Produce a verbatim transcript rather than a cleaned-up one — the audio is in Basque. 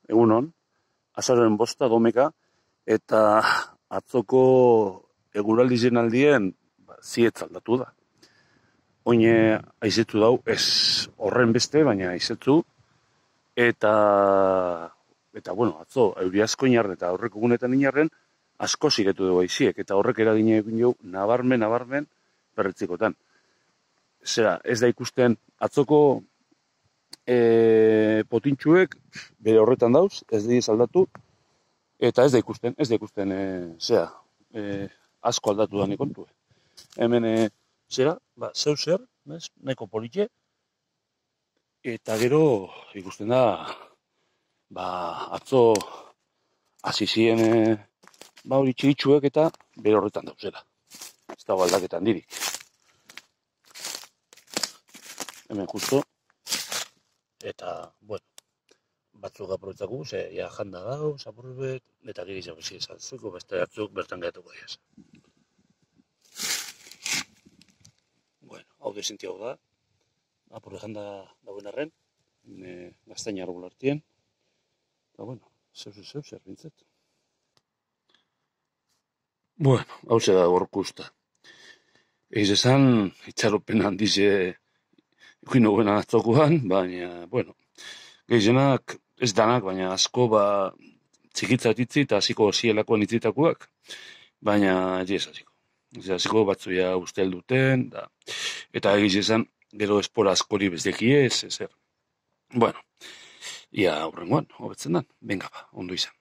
egunon, azaroen bosta domeka, eta atzoko eguraldi jenaldien zietz aldatu da. Oine aizetu dau, ez horren beste, baina aizetu, eta, eta bueno, atzo, euri asko inarren eta horrek egunetan inarren, asko zigetu dugu aiziek, eta horrek eragine egin jau, nabarmen, nabarmen, berretzikotan. Zera, ez da ikusten atzoko e, potintxuek bere horretan dauz, ez diez aldatu, eta ez da ikusten, ez da ikusten, e, zera, e, asko aldatu da kontu. Hemen, e, zera, ba, zeu zer, bez, nahiko politxe, eta gero ikusten da, ba, atzo hasi ziren, e, ba, hori txiritxuek eta bere horretan dauzela. Ez dago aldaketan dirik. Hemen justo, eta, bueno, batzuk aprobetzaku, ze, ja, janda gau, zapurbet, eta giri zago izan zuko, beste batzuk bertan gaiatuko diaz. Bueno, hau desinti hau da, apurre janda dauen arren, e, gaztaina argolartien, eta, bueno, zeu, zeu, zer bintzet. Bueno, hau ze da gorkusta. Eiz esan, itxaropen handize ikuin noguen atzokoan, baina, bueno, gehienak ez danak, baina asko, ba, txikitzat itzi eta hasiko zielakoan itzitakoak, baina ez hasiko. Ez hasiko batzuia ustel duten, da, eta egiz esan, gero espora askori bezdekiez, ezer. Bueno, ia aurrengoan, hobetzen dan, venga ba, ondo izan.